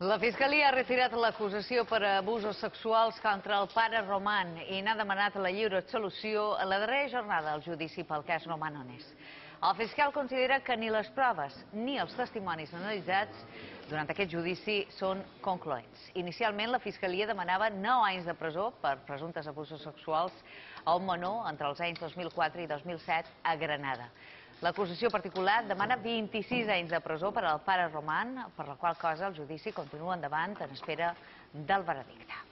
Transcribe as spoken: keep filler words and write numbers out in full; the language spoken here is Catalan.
La Fiscalia ha retirat l'acusació per abusos sexuals contra el pare Roman i n'ha demanat la lliure absolució a la darrera jornada del judici pel cas Romanones. El fiscal considera que ni les proves ni els testimonis analitzats durant aquest judici són concloents. Inicialment, la Fiscalia demanava nou anys de presó per presumptes abusos sexuals a un menor entre els anys dos mil quatre i dos mil set a Granada. L'acusació particular demana vint-i-sis anys de presó per al pare Roman, per la qual cosa el judici continua endavant en espera del veredicte.